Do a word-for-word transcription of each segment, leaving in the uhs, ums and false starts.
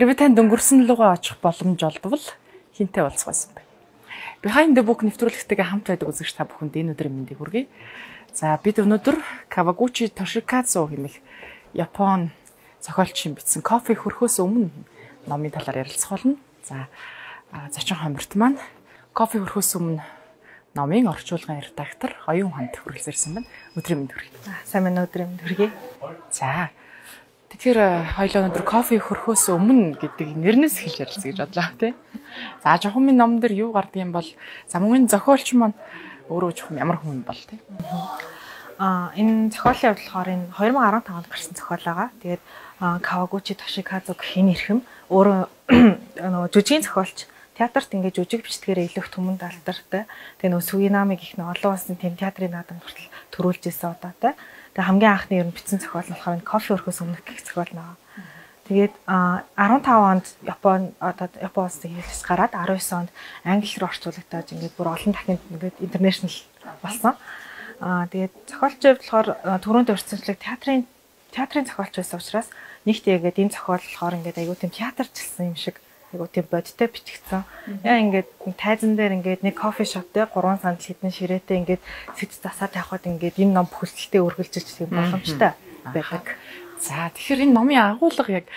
Хэрвээ танд өнгөрсөн лугаа очих боломж олдвол хинтээ уулзах байсан бэ? Behind the Book нэвтрүүлэгтэйгээ хамт байдаг үзэгч та бүхэнд энэ өдрийн мэндийг хүргэе. За бид өнөөдөр Kawaguchi Toshikazu хэмээх Япон зохиолчийн бичсэн Кофе хөрхөөс өмнө номын талаар ярилцах болно. За зочин хомрт маань Кофе хөрхөөс өмнө номын орчуулгын редактор Оюун ханд хүрэлцэрсэн байна. Өдрийн мэнд хүргэе. Сайн байна уу, өдрийн мэнд хүргэе. За тэгэхээр хоёулаа өнөөдөр кофе хөрхөөс өмнө гэдэг нэрнээс эхэлж ярилцъя гэж бодлоо тий. За жохомын ном дээр юу гардаг юм бол за мөн зохиолч маань өөрөө жохом ямар хүн бол тий. Аа энэ зохиолын явдлахаар энэ two thousand fifteen онд гарсан зохиол байгаа. Тэгээд Kawaguchi Toshikazu гэх энэ эрхэм өөрөө нөгөө жүжигийн зохиолч театрт ингээд жүжиг бичдгээрээ илүү түмэн даалдартай. Тэгээ нөгөө Суинами гэх нэг олон улсын тэм театрын наадам хүртэл төрүүлж ирсэн удаатай. Тэгээ хамгийн анхны ер нь бичсэн зохиол нь болохоор кофе өрхөөс өмнөх гэх зохиол наа. Тэгээд fifteen онд Япон одоо Япон улсын хэлс гараад nineteen онд англи руу орчуулагдаад ингээд бүр олон дахинд ингээд интернэшнл болсон. Аа тэгээд зохиолч болохоор түрүүнд өрсөлдөг театрын театрын зохиолч байсан учраас нэгт яагаад энэ зохиол болохоор ингээд айгуу тийм театрчлсан юм шиг айгуу тийм бодтой бичигдсэн. Яа ингээд тайзан дээр ингээд нэг кофе шоп дээр гурван сандал хідэн ширээтэй ингээд сэт засаад явхад ингээд энэ ном бүхэлдээ үргэлжилж тийм боломжтой байдаг. За тэгэхээр энэ номын агуулга яг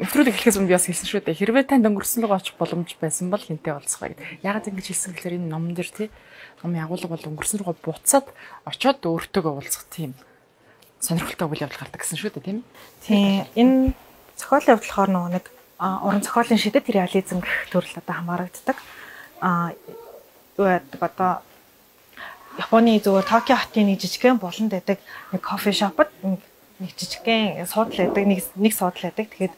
нэвтрүүлэг эхлэхээс өмнө би бас хэлсэн шүү дээ. Хэрвээ танд өнгөрсөн лугаа очих боломж байсан бол хинтээ уулзах бай гэдэг. Яагаад ингэж хэлсэн гэхээр энэ номон дээр тий номын агуулга бол өнгөрсөн лугаа буцаад очиод өөртөөгөө уулзах тийм сонирхолтой үйл явдал гардаг гэсэн шүү дээ тийм. Тийм энэ зохиолын явдлахаар нөгөө нэг уран зохиолын шидэт реализм гэх төрөл одоо хамаарагддаг. Аа юу яадаг одоо Японы зөвхөн Токио хотын нэг жижигхэн болонд байдаг нэг кофе шопод нэг жижигхэн суудлаа байдаг нэг нэг суудлаа байдаг. Тэгээд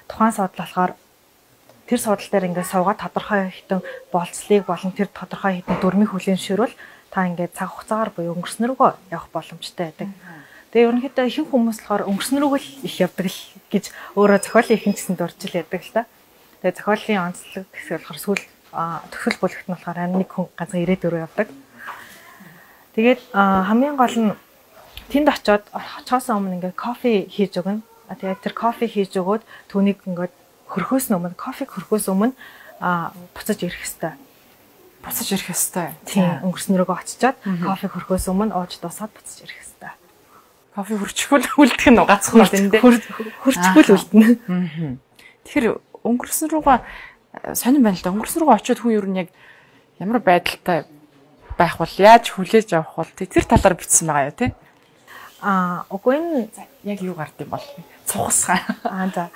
тухайн суудлал болохоор тэр суудлал дээр ингээд суугаад тодорхой хэдэн болцлыг болон тэр тодорхой хэдэн дүрмийн хүлээн ширүүл та ингээд цаг хугацаагаар буюу өнгөрсөн рүүгөө явах боломжтой байдаг. Тэгээ ерөнхийдөө ихэнх хүмүүс болохоор өнгөрсөн рүүгөө л их явдаг л гэж өөрөө зохиолын ихэнх гэсэнд орж ил яадаг л та. Тэгээ зохиолын онцлог гэсэл болохоор сүүл төгсгөл бүлэгт нь болохоор харин нэг хүн ганцхан ирээдүрөө явдаг. Тэгээд хамгийн гол нь тэнд очиод очихоос өмнө ингээд кофе хийж өгнө. Тэгээд тэр кофе хийж өгөөд түүнийг ингээд хөрхөөс өмнө кофе хөрхөөс өмнө буцаж ирэх хэвээр. Буцаж ирэх хэвээр. Тийм өнгөрсөн рүүгөө очичоод кофе хөрхөөс өмнө ууж дуусаад буцаж ирэх хэвээр. Кофе хөрчихвөл үлдэх нь гацхгүй юм дээ. Хөрчихвөл үлдэнэ. Тэгэхээр өнгөрсөн рүүгээ сонирн байна л да. Өнгөрсөн рүүгээ очиод хүн ер нь яг ямар байдалтай байх бол яаж хүлээж авах бол тэр талаар бичсэн байгаа юу те? Аа, үгүй энэ яг юу гард юм бол цухасгаа. Аа за.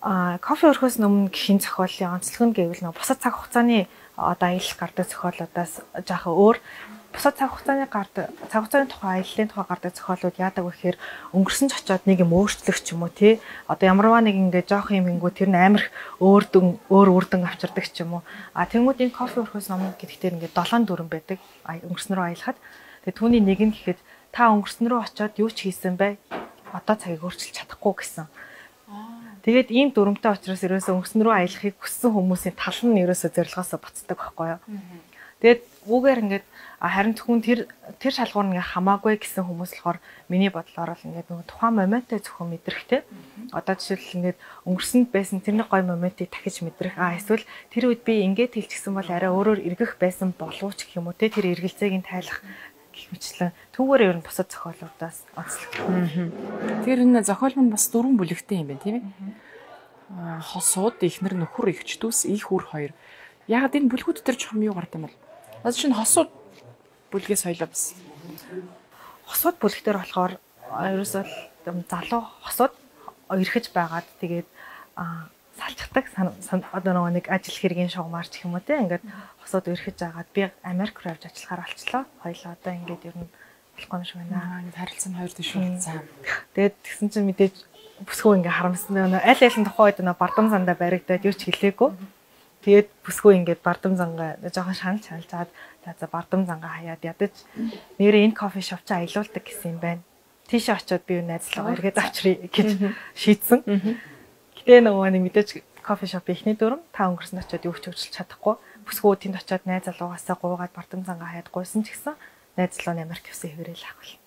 Аа, кофе өрхөөс өмнө гэх зохиолын онцлог нь гэвэл нөө бусад цаг хугацааны одоо аялал гардаг зохиолуудаас жаахан өөр. Бусад цаг хугацааны гардаг цаг хугацааны тухай аяллаа тухай гардаг зохиолууд яадаг вэ гэхээр өнгөрсөн ч очиод нэг юм өөрчлөх ч юм уу тий. Одоо ямарваа нэг ингээ жоох юм ингүү тэр нь амар өөр дүн өөр үрдэн авчирдаг ч юм уу. А тэнгууд энэ кофе өрхөөс ном гэдэгтэр ингээ долоон дүрэн байдаг. Өнгөрсөн рүү аялахад. Тэгээ түүний нэг нь гэхэд та өнгөрсөн рүү очиод юу ч хийсэн бай. Одоо цагийг өөрчилж чадахгүй гэсэн. Тэгээд ийм дүрмтэй учраас ерөөсөө өнгөрсөн рүү аялахыг хүссэн хүмүүсийн тал нь ерөөсөө зорилгоосоо буцдаг байхгүй юу. Тэгээд үүгээр ингээд харин зөвхөн тэр тэр шалгуур нь ингээ хамаагүй гэсэн хүмүүс болохоор миний бодлоор л ингээд нөгөө тухайн моментээ зөвхөн мэдрэхтэй. Одоо жишээл ингээд өнгөрсөнд байсан тэрний гой моментыг дахиж мэдрэх. Аа эсвэл тэр үед би ингээд хэлчихсэн бол арай өөрөөр эргэх байсан болов ч гэх юм уу те тэр эргэлзээг нь тайлах гэх мэтлэн түүгээр ер нь бусад зохиолуудаас онцлог. Тэр энэ зохиол нь бас дөрвөн бүлэгтэй юм байна тийм ээ. Хосууд, ихнэр, нөхөр, эгч дүүс, их үр хоёр. Яг энэ бүлгүүд дээр чухам юу гардаг юм бол? Одоо чинь хосууд бүлгээс хоёлоо бас. Хосууд бүлэг дээр болохоор ерөөсөө залуу хосууд ирэхэж байгаад тэгээд салчдаг одоо нөгөө нэг ажил хэргийн шугамарч гэх юм уу те ингээд хосууд ирэхэж байгаад би Америк руу явж ажиллахаар болчлоо. Хоёлоо одоо ингээд ер нь болохгүй юм шиг байна. Ингээд харилцан хоёр дэш болсон. Тэгээд тэгсэн чинь мэдээж бүсгүй ингээд харамсан нөгөө аль аль нь тухайн үед нөгөө бардам зандаа баригдаад юу ч хэлээгүй. Тэгээд бүсгүй ингээд бардам зангаа жоохон шанал шанал заад за бардам зангаа хаяад ядаж нэрээ энэ кофе шоп чи аялуулдаг гэсэн юм байна. Тийшээ очиод би найзлаагаа эргээд авчръя гэж шийдсэн. Гэтэ нөгөө нэг мэдээж кофе шопын эхний дүрм та өнгөрсөнд очиод юу ч хөгжүүлж чадахгүй. Бүсгүй тэнд очиод найз залуугаасаа гуугаад бардам зангаа хаяад гуйсан ч гэсэн найз залуу Америк явсан хэвээрээ л ахвал.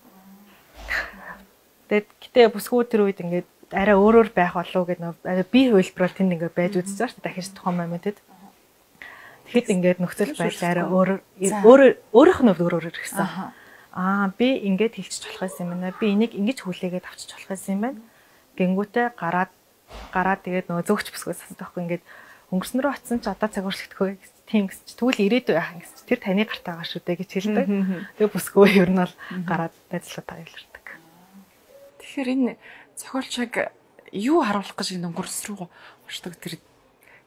Тэгээд гэтээ бүсгүй тэр үед ингээд арай өөрөөр байх болов гэд нөө би хувилбараар тэнд ингээд байж үзэж байгаа шүү дээ. Дахиж тухайн моментэд. Тэгэхэд ингээд нөхцөл байдал арай өөр өөр өөрийнх нь өөр өөрөөр ирсэн. Аа би ингээд хэлчих болох байсан юм байна. Би энийг ингэж хүлээгээд авчиж болох байсан юм байна. Гингүүтээ гараад гараад тэгээд нөгөө зөөгч бүсгөөс асуух байхгүй ингээд өнгөрсөн рүү очсон ч одоо цаг уршлагдахгүй тийм гэсэн чи тэгвэл ирээдүй яах гэсэн чи тэр таны гартаа байгаа шүү дээ гэж хэлдэг. Тэгээ бүсгөө ер нь бол гараад ажиллагаа тавилардаг. Тэгэхээр энэ зохиолч яг юу харуулах гэж энэ өнгөрс рүү очдог тэр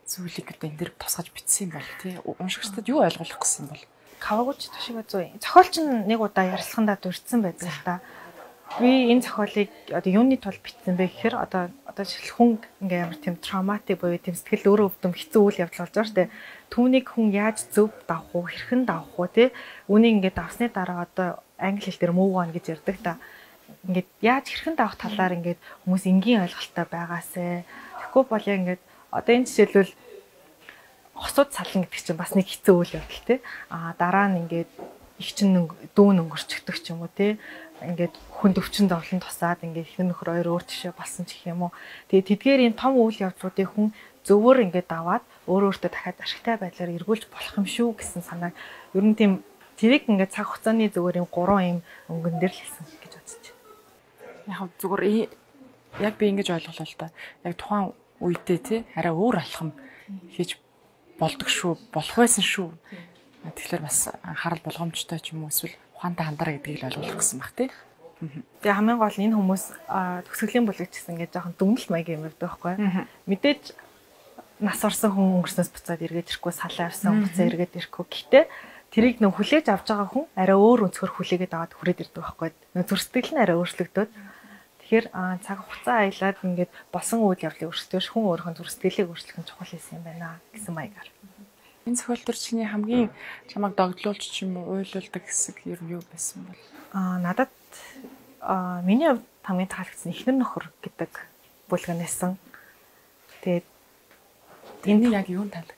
зүйлийг одоо энэ дэр тусгаж бичсэн юм бол тий уншигчдад юу ойлгуулах гэсэн юм бол Кавагучи Тошигадзу зохиолч нь нэг удаа ярилцлагандаа дурдсан байдаг л та. Би энэ зохиолыг одоо юуны тулд бичсэн бэ гэхээр одоо одоо жишээл хүн ингээм ямар тийм травматик буюу тийм сэтгэл өөрөө өвдөм хэцүү үйл явдал болж байгаа шүү дээ. Түүнийг хүн яаж зөв давах уу, хэрхэн давах уу тий. Үнийг ингээд давсны дараа одоо англи хэл дээр move on гэж ярьдаг та. Ингээд яаж хэрхэн давах талаар ингээд хүмүүс энгийн ойлголттой байгаасэ. Тэгэхгүй бол яг ингээд одоо энэ жишээлбэл хосууд сална гэдэг чинь бас нэг хэцүү үйл явдал тий. Аа дараа нь ингээд их чин дүүн өнгөрчдөг ч юм уу тий. Ингээд хүнд өвчин зовлон тусаад ингээд ихнэр нөхөр хоёр өөр тишээ болсон ч гэх юм уу. Тэгээ тэдгээр энэ том үйл явдлуудыг хүн зөвөр ингээд даваад өөр өөртөө дахиад ашигтай байдлаар эргүүлж болох юм шүү гэсэн санааг ер нь тийм тэрийг ингээд цаг хугацааны зөвөр юм гурван юм өнгөн дээр л хэлсэн гэж бодож байна. Яг зүгээр яг би ингэж ойлголоо л да. Яг тухайн үедээ тий арай өөр алхам хийж болдог шүү, болох байсан шүү. Тэгэхээр бас анхаарал болгоомжтой ч юм уу эсвэл ухаантай хандараа гэдгийг л ойлгох гэсэн баг тий. Тэгээ хамгийн гол энэ хүмүүс төгсгөлийн бүлэгч гэсэн ингээд жоохон дүнэлт маягийн юм байдаг байхгүй. Мэдээж нас орсон хүн өнгөрснөөс буцаад эргээд ирэхгүй, салаа авсан буцаа эргээд ирэхгүй. Гэхдээ тэрийг нөө хүлээж авч байгаа хүн арай өөр өнцгөр хүлээгээд аваад хүрээд ирдэг байхгүй. Нөө зөрсдөл нь арай өөрчлөгдөд. Тэгэхээр цаг хугацаа аялаад ингээд болсон үйл явдлыг өөрчлөж хүн өөрийнхөө зөрсдөлийг өөрчлөх нь чухал байсан юм байна гэсэн маягаар. Энэ зохиол төр чиний хамгийн чамайг догдлуулж ч юм уу уйлуулдаг хэсэг ер нь юу байсан бол? Аа надад аа миний хувьд хамгийн таалагдсан ихнэр нөхөр гэдэг бүлгэнээсэн. Тэгээд энэ яг юунд таалаг?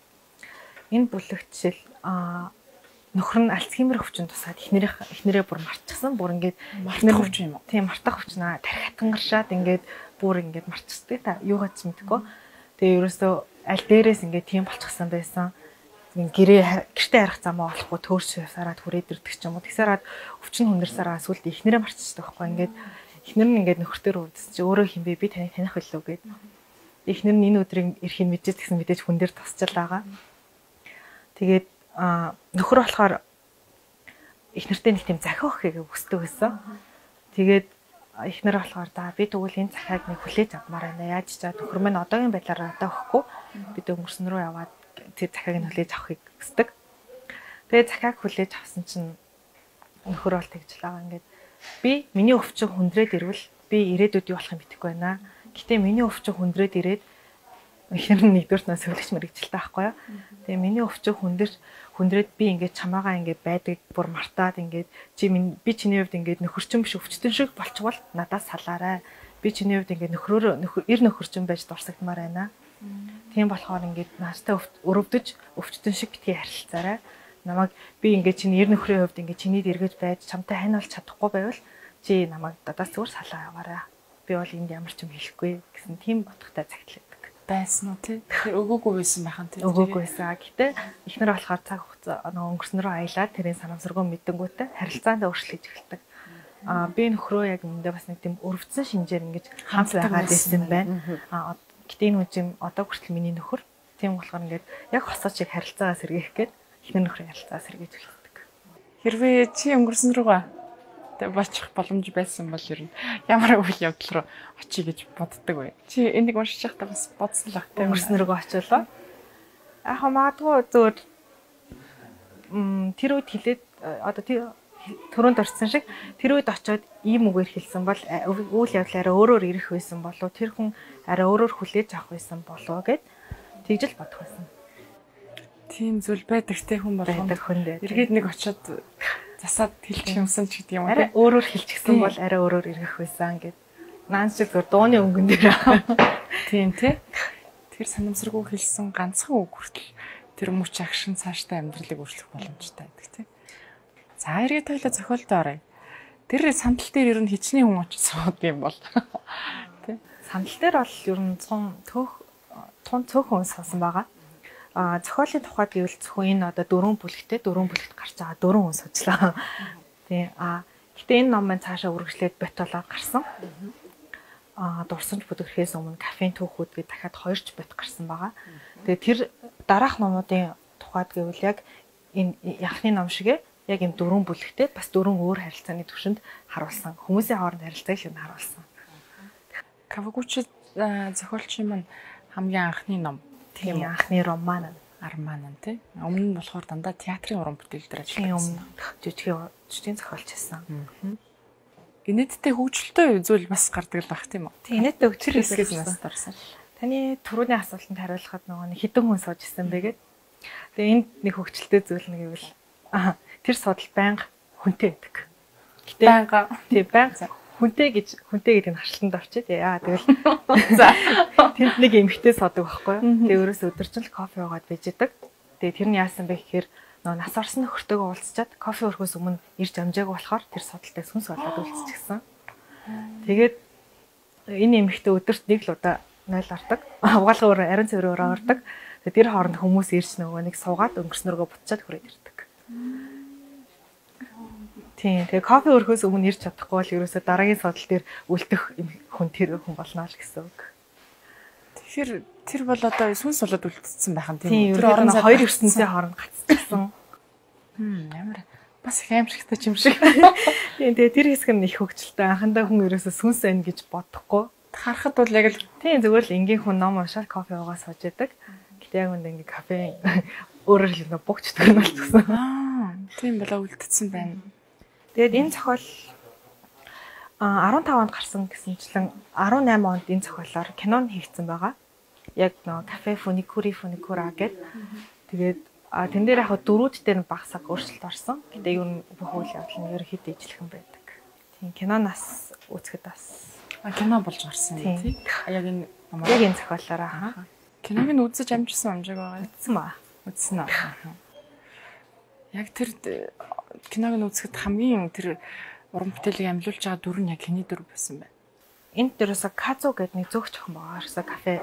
Энэ бүлэгт жишээл аа нөхөр нь Альцгеймер өвчин тусаад ихнэрийн ихнэрээ бүр марчихсан. Бүр ингээд мартах өвчин юм уу? Тийм мартах өвчин аа тарих хатангаршаад ингээд бүр ингээд марчихдаг та юугаад ч мэдгүй. Тэгээ ерөөсөө аль дээрээс ингээд тийм болчихсан байсан. Гэрээ гэртээ харах замаа олохгүй төөрч сараад хүрээд ирдэг ч юм уу. Тэгсараад өвчин хүндрсараа сүлд ихнэрээ марччихдаг байхгүй. Ингээд ихнэр нь ингээд нөхөртөө үүдс чи өөрөө хин бэ би таныг таних билүү гэд. Ихнэр нь энэ өдрийг ирэхийг мэдээд гэсэн мэдээж хүн дээр тасчил байгаа. Тэгээд нөхөр болохоор ихнэртэй нэг тийм захиу өгөхийг хүсдэг байсан. Тэгээд ихнэр болохоор за би тэгвэл энэ захиаг нэг хүлээж авмаар байна. Яаж ч за нөхөр минь одоогийн байдлаараа одоо өгөхгүй. Бид өнгөрсөн рүү яваад тэр захиаг нь хүлээж авахыг хүсдэг. Тэгээд захиаг хүлээж авсан чинь нөхөр бол тэгж лаа ингээд би миний өвчин хүндрээд ирвэл би ирээдүйд юу болох юм мэдэхгүй байна. Гэтэ миний өвчин хүндрээд ирээд ихнэр нь нэгдүгээр нь сөүлэгч мэрэгчлээ байхгүй юу. Тэгээ миний өвчин хүндэрч хүндрээд би ингээд чамаагаа ингээд байдаг бүр мартаад ингээд чи би чиний хувьд ингээд нөхөрчин биш өвчтөн шиг болчихвол надаас салаарай. Би чиний хувьд ингээд нөхрөөр нөхөр эр нөхөрчин байж дурсагдмаар байна. Тийм болохоор ингээд наастай өрөвдөж өвчтөн шиг битгий харилцаарай. Намайг би ингээд чиний эр нөхрийн хувьд ингээд чинийд эргэж байж чамтай хань болж чадахгүй байвал чи намайг дадаас зүгээр салаа яваарай. Би бол энд ямар ч юм хэлэхгүй гэсэн тийм бодохтой цагтлаадаг. Байсан уу тий? Тэгэхээр өгөөгүй байсан байх нь тий. Өгөөгүй байсан. Гэтэ ихнэр болохоор цаг хугацаа өнгөрсөн рүү аялаад тэрийн санамсаргүй мэдэнгүүтээ харилцаанд өөрчлөж эхэлдэг. Аа би нөхрөө яг эндээ бас нэг тийм өрөвдсөн шинжээр ингэж хамт байгаад байсан байна. Аа гэтэ энэ үн чинь одоо хүртэл миний нөхөр. Тийм болохоор ингээд яг хосоо чиг харилцаагаа сэргээх гээд ихнэр нөхрийн харилцаа сэргээж эхэлдэг. Хэрвээ чи өнгөрсөн рүүгээ болчих боломж байсан бол ер нь ямар үйл явдал руу очие гэж боддог вэ? Чи энийг уншиж байхдаа бас бодсон л ахтай өнгөрсөн рүүгээ очиолоо. Яг магадгүй зөвөр м тэр үед хилээд одоо төрөнд орсон шиг тэр үед очиод ийм үгээр хэлсэн бол үйл явдлаараа өөрөөр ирэх байсан болов тэр хүн арай өөрөөр хүлээж авах байсан болов гэд тэгж л бодох байсан. Тийм зүйл байдаг те хүн болгоом. Байдаг хүн дээ. Эргээд нэг очиод засаад хэлчих юмсан ч гэдэг юм уу. Арай өөрөөр хэлчихсэн бол арай өөрөөр ирэх байсан гэд. Наан шиг зур дууны өнгөн дээр. Тийм тий. Тэр санамсаргүй хэлсэн ганцхан үг хүртэл тэр мөч агшин цааштай амьдралыг өөрчлөх боломжтой байдаг тий. За эргээд тойлоо зохиолтой оръё. Тэр сандал дээр ер нь хичнээн хүн очиж суудаг юм бол тий. Сандал дээр бол ер нь цун төөх тун цөөхөн сонсон байгаа. А зохиолын тухайд гэвэл зөвхөн энэ одоо дөрвөн бүлэгтэй дөрвөн бүлэгт гарч байгаа дөрвөн хүн суужлаа. Тий. А гэтээ энэ ном маань цаашаа үргэлжлээд бот болоод гарсан. А дурсамж бүдгэрхээс өмнө кафеин түүхүүд гээд дахиад хоёр ч бот гарсан байгаа. Тэгээ тэр дараах номуудын тухайд гэвэл яг энэ яхны ном шигэ яг юм дөрвөн бүлэгтэй бас дөрвөн өөр харилцааны түвшинд харуулсан. Хүмүүсийн хооронд харилцааг л харуулсан. Кавагучи зохиолчийн маань хамгийн анхны ном. Тийм анхны роман Арман тий. Өмнө нь болохоор дандаа театрын уран бүтээл дээр ажилласан. Тийм жижигхэн жижигэн зохиолч байсан. Генетиктэй хөгжилтэй зүйл бас гардаг л баг тийм үү? Тийм генетиктэй хөгжил хэсгээс нас дарсан. Таны түрүүний асуултанд хариулахад нөгөө хідэн хүн сууж исэн байгээд. Тэгээ энд нэг хөгжилтэй зүйл нэг гэвэл аа тэр судал байнга хүнтэй байдаг. Гэтэ байнга тий байнга хүнтэй гэж хүнтэй гэдэг нь харшилтанд орчид яа тэгэл за тэнд нэг эмхтэй суудаг байхгүй юу. Тэгээ өөрөөс өдөржин л кофе уугаад байж идэг. Тэгээ тэр нь яасан бэ гэхээр нөгөө нас орсон нөхөртөөгөө уулзчаад кофе өрхөөс өмнө ирж амжаагүй болохоор тэр судалтай сүнс болоод үлдчихсэн. Тэгээд энэ эмхтэй өдөрт нэг л удаа нойл ордог. Угаалга өөр ариун цэврээр ордог. Тэгээ тэр хооронд хүмүүс ирж нөгөө нэг суугаад өнгөрснөргөө бутчаад хүрээд ирдэг. Тийм. Тэгээ кофе өрхөөс өмнө ирж чадахгүй бол ерөөсөө дараагийн судал дээр үлдэх хүн тэр хүн болно л гэсэн үг. Тэгэхээр тэр бол одоо сүнс болоод үлдсэн байх нь тийм. Тэр орон хоёр ертөнцийн хооронд гацчихсан. Хм ямар бас их аимшигтай юм шиг. Тийм. Тэгээ тэр хэсэг нь их хөвгчлээ. Анхандаа хүн ерөөсөө сүнс байна гэж бодохгүй. Харахад бол яг л тийм зүгээр л энгийн хүн ном уншаад кофе уугаа сууж идэг. Гэтэ яг үндэ ингээ кафе өөрөөр хэлбэл богчдөг нь болчихсон. Аа тийм болоо үлдсэн байна. Тэгээд энэ зохиол арван тав онд гарсан гэсэнчлэн арван найман онд энэ зохиолоор кино нь хийгдсэн байгаа. Яг нөө кафе фуникури фуникура гэдэг. Тэгээд тэн дээр яг дөрүүд дээр багсаг өөрчлөлт орсон. Гэтэ ер нь бүх үйл явдал нь ерөөхдөө ижлэхэн байдаг. Тийм киноноос үзэхэд бас кино болж гарсан юм тий. Яг энэ яг энэ зохиолоор аа. Киног нь үзэж амжсан амжааг байгаа. Үзсэн ба. Үзсэн аа. Яг тэр киног нь үзэхэд хамгийн тэр уран бүтээлийг амлиулж байгаа дүр нь яг хэний дүр байсан бэ? Энд дээрээс Казу гэдэг нэг зөвхөн охин байгаа. Ерөөсө кафе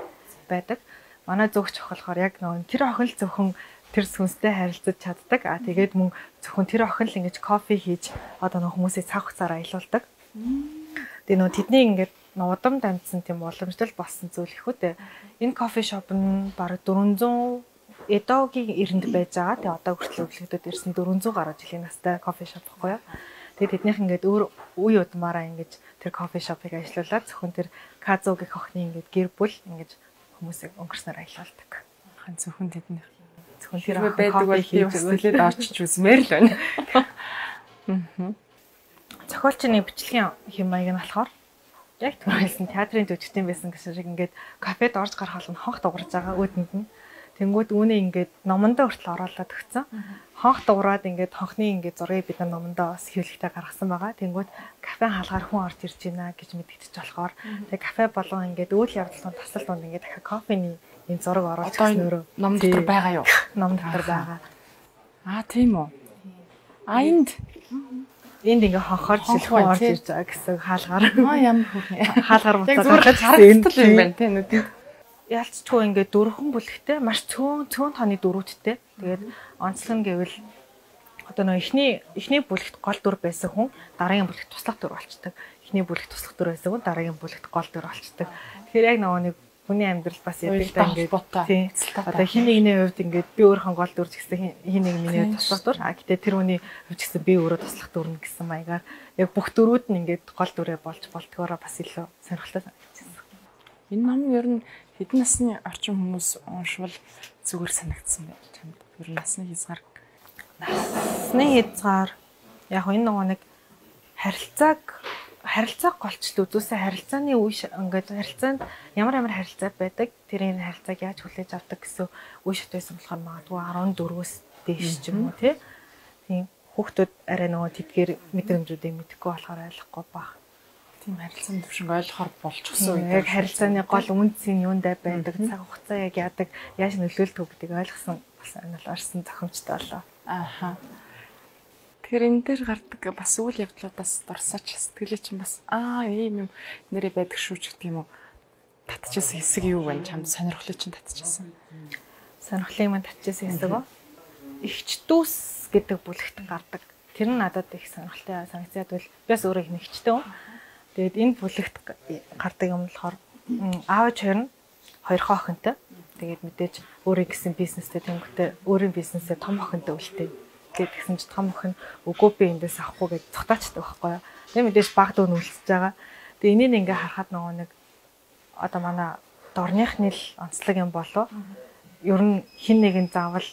байдаг. Манай зөвхөн охин болохоор яг нөгөө тэр охин л зөвхөн тэр сүнстэй харилцаж чаддаг. Аа тэгээд мөн зөвхөн тэр охин л ингэж кофе хийж одоо нөгөө хүмүүсийг цаг хугацаараа аялуулдаг. Тэгээ нөгөө тэдний ингээд удам дамжсан тийм уламжлал болсон зүйл их үү. Энэ кофе шоп нь бараг дөрвөнзөө Эдогийн эрэнд байж байгаа. Тэгээ одоо хүртэл өглөөдөд ирсэн дөрвөнзөө гаруй жилийн настай кофе шоп байхгүй юу. Тэгээ тэднийх ингээд өөр үе удмаараа ингэж тэр кофе шопыг ажиллуулад зөвхөн тэр Казу гэх охины ингээд гэр бүл ингэж хүмүүсийг өнгөрснөр аялуулдаг. Хан зөвхөн тэднийх. Зөвхөн тэр байдаг бол би бас төлөөд орчиж үзмээр л байна. Аа. Зохиолчны бичлэгийн хэм маяг нь болохоор яг түрүүлсэн театрын жүжигчдийн байсан гэсэн шиг ингээд кафед орж гарах бол хонх дуурж байгаа өөдөнд нь. Тэнгүүд үүнээ ингээд номондоо хүртэл оруулаад өгсөн. Хонх дуураад ингээд хонхны ингээд зургийг бид номондоо бас хэвлэгтэй гаргасан байгаа. Тэнгүүд кафе хаалгаар хүн орж ирж байна гэж мэдгдэж болохоор тэгээ кафе болгон ингээд үйл явдлын тасал донд ингээд дахиад кофений энэ зураг оруулж өгсөн өөрөө ном дотор байгаа юу? Ном дотор байгаа. Аа тийм үү. А энд энд ингээ хонхоор жишээ орж ирж байгаа гэсэн хаалгаар. Аа ямар хөөрхөн. Хаалгаар буцаад гаргаж харагдтал юм байна тийм нүдэнд. Ялцчгүй ингээ дөрвөн бүлэгтэй маш цөөн цөөн тооны дөрүүдтэй. Тэгээд онцлог нь гэвэл одоо нөө эхний эхний бүлэгт гол дүр байсан хүн дараагийн бүлэгт туслах дүр болчдөг. Эхний бүлэгт туслах дүр байсан хүн дараагийн бүлэгт гол дүр болчдөг. Тэгэхээр яг нөгөө нэг хүний амьдрал бас ядаг та ингээ тийм. Одоо хин нэгний хувьд ингээ би өөрийнхөө гол дүр гэсэн хин нэг миний туслах дүр. А гэтээ тэр хүний хувьд гэсэн би өөрөө туслах дүр нь гэсэн маягаар яг бүх дүрүүд нь ингээ гол дүрээ болж болтгоороо бас илүү сонирхолтой санагдчихсан. Энэ ном ер нь хэдэн насны орчин хүмүүс уншвал зүгээр санагдсан байх чамд. Ер нь насны хязгаар. Насны хязгаар яг энэ нөгөө нэг харилцааг харилцааг голчлоо үзүүлсэн харилцааны үе ингээд харилцаанд ямар ямар харилцаа байдаг тэрийн харилцааг яаж хүлээж авдаг гэсэн үе шат байсан болохоор магадгүй арван дөрвөөс дээш ч юм уу тийм хүүхдүүд арай нөгөө тэдгээр мэдрэмжүүдийг мэдэхгүй болохоор ойлгохгүй баг. Тийм харилцааны төвшинг ойлгохоор болчихсон үед яг харилцааны гол үнцийн юундаа байдаг цаг хугацаа яг яадаг яаж нөлөөлдөг гэдгийг ойлгосон бас анал орсон зохимжтой болоо. Ааха. Тэгэхээр энэ дээр гардаг бас үйл явдлуудаас дурсаач сэтгэлээ чинь бас аа ийм юм нэрээ байдаг шүү ч гэх юм уу. татчихсан хэсэг юу вэ? Чамд сонирхлыг чинь татчихсан. Сонирхлыг мань татчихсан хэсэг үү? Игч дүүс гэдэг бүлэгт гардаг. Тэр нь надад их сонирхолтой санагдаад бол би бас өөрөө их нэгчтэй. Тэгээд энэ бүлэгт гардаг юм болохоор аав хоёр нь хоёр охинтой. Тэгээд мэдээж өөрийн гэсэн бизнестэй тэнгуүтэй өөрийн бизнесээ том охинтой үлдээ. Тэгээд тэгсэн чинь том охин өгөө би эндээс авахгүй гэж цогтаачдаг байхгүй юу. Тэгээд мэдээж баг дөө нүлсэж байгаа. Тэгээд энийг ингээ харахад нөгөө нэг одоо манай дорныхны л онцлог юм болов. Ер нь хин нэгэн заавал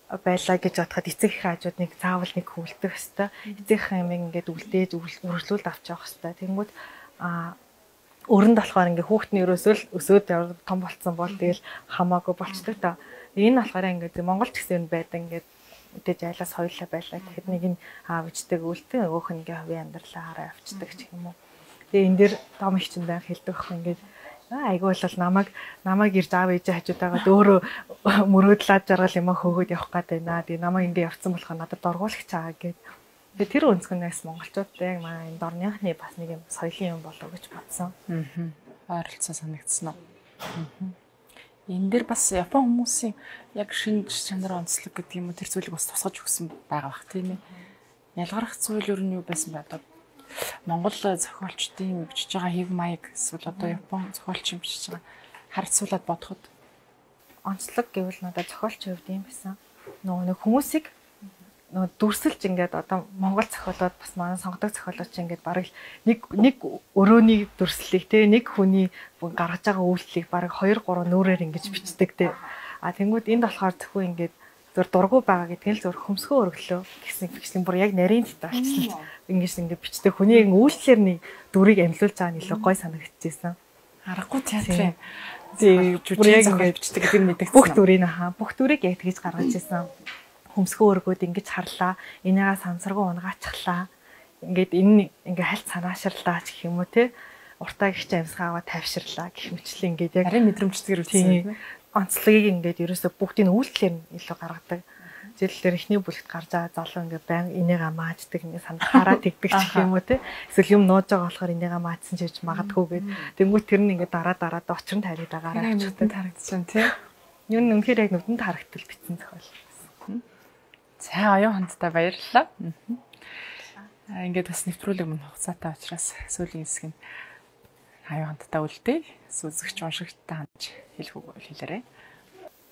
байлаа гэж бодоход эцэг их хажууд нэг заавал нэг хөвөлдөх хэвээр эцэг их юм ингээд үлдээж үргэлжлүүлд авч явах хэвээр. Тэнгүүд а өрөнд болохоор ингээ хүүхдний өрөөсөө л өсөөд том болцсон бол тэгэл хамаагүй болчдөг та. Энэ болохоор ингээ Монгол ч гэсэн байдаг ингээд мэдээж айлаас хоёулаа байлаа гэхэд нэг нь аав ичдэг үлдэн нөгөөх нь ингээ хувийн амьдралаа хараа авчдаг ч юм уу. Тэгээ энэ дэр том их чинь байх хэлдэг ах ингээд айгүй бол намайг намайг ирж аав ээж хажууд байгаад өөрөө мөрөөдлаад жаргал юм хөөгөөд явах гээд байна. Тэгээ намайг ингээ явцсан болохоор надад доргуулагч байгаа гэд. Тэгээ тэр өнцгөнээс монголчуудтай яг манай энэ дорныхны бас нэг юм соёлын юм болов гэж бодсон. Аа. Ойролцоо санагдсан уу? Аа. Энэ дэр бас Япон хүмүүсийн яг шинж чанар онцлог гэдэг юм уу тэр зүйлийг бас тусгаж өгсөн байгаа бах тийм ээ. Ялгарх зүйл юу нь юу байсан бэ одоо Монгол зохиолчдын бичиж байгаа хэв маяг эсвэл одоо Япон зохиолчийн бичиж байгаа харьцуулаад бодоход онцлог гэвэл надад зохиолч хувьд юм байсан. Нөгөө нэг хүмүүсийг нөгөө дүрсэлж ингээд одоо Монгол зохиолоод бас манай сонгодог зохиолооч ингээд бараг нэг нэг өрөөний дүрслэлийг те нэг хүний гаргаж байгаа үйлчлэлийг бараг хоёр гурван нүүрээр ингэж бичдэг те. А тэнгууд энд болохоор зөвхөн ингээд зур дургу байгаа гэдэг нь л зур хөмсгөө өргөлөө гэсэн бичсэн бүр яг нарийн дэт болчихсон. Ингэж ингээд бичдэг хүний үйлчлэлэр нэг дүрийг амьлуулж байгаа нь илүү гой санагдчихсэн. Аргагүй театрын тий бүр яг ингээд бичдэг гэдэг нь мэдэгдсэн. Бүх дүрийг хаа бүх дүрийг яг тэгж гаргаж ирсэн. Хөмсгөө өргөөд ингэж харлаа. Энийгээ сансаргуу унгаачихлаа. Ингээд энэ ингээ хальт санаашрлаа гэх юм уу те. Уртаа гихч амьсгаагаа тавьширлаа гэх мэтчлээ ингээд яг харин мэдрэмжтэйгээр үзсэн. Онцлогийг ингээд ерөөсө бүгдийн үйлчлэлээр илүү гаргадаг. Жишээлбэл эхний бүлэгт гарч байгаа залуу ингээд баян энийгээ мааждаг ингээд санахаараа тэгдэг гэх юм уу те. Эсвэл юм нууж байгаа болохоор энийгээ маажсан ч гэж магадгүй гэд. Тэнгүүт тэр нь ингээд дараа дараад очрон тариад байгаараа авчихдаг харагдсан тий. Юу н үнэхээр яг нүдэнд харагдтал битсэн зохиол. За оюун хандтай баярлалаа. Аа ингээд бас нэвтрүүлэг мөн хугацаатай учраас сүүлийн хэсэг нь оюун хандтай үлдээ. Сүзгч уншигчтай хандж хэлэх үг хэлээрэй.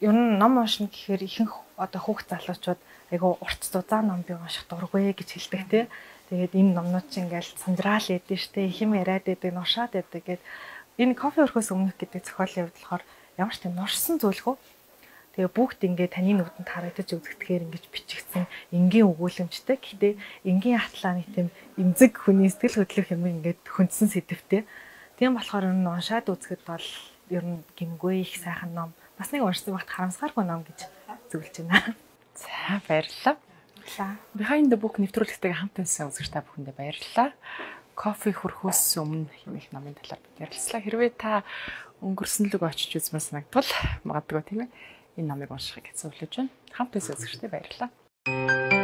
Ер нь ном уншина гэхээр ихэнх одоо хүүхд залуучууд айгу урт зузаан ном би унших дургүй гэж хэлдэг тий. Тэгээд энэ номнууд чинь ингээл санджраал эдэн штэ их юм яриад эдэг нушаад эдэг гэд энэ кофе өрхөөс өмнөх гэдэг зохиолын хувьд болохоор ямар ч тийм нурсан зүйлгүй. Тэгээ бүгд ингээ таны нүдэнд харагдаж үзэгдэхээр ингэж бичигдсэн энгийн өгүүлэмжтэй. Гэхдээ энгийн хатлааны тийм эмзэг хүний сэтгэл хөдлөх юм ингээд хөндсөн сэдвтэй. Тийм болохоор энэ уншаад үзэхэд бол ер нь гимгүй их сайхан ном. Бас нэг уншсан багт харамсааргүй ном гэж зөвлөж байна. За баярлалаа. Behind the Book нэвтрүүлэгтэйгээ хамт байсан үзэгч та бүхэндээ баярлалаа. Кофе хөрхөөс өмнө хэмээх номын талаар ярилцлаа. Хэрвээ та өнгөрсөн лөг очиж үзмээр санагдвал магадгүй тийм ээ энэ номыг уншихыг зөвлөж байна. Хамт байсан үзэгчтэй баярлалаа.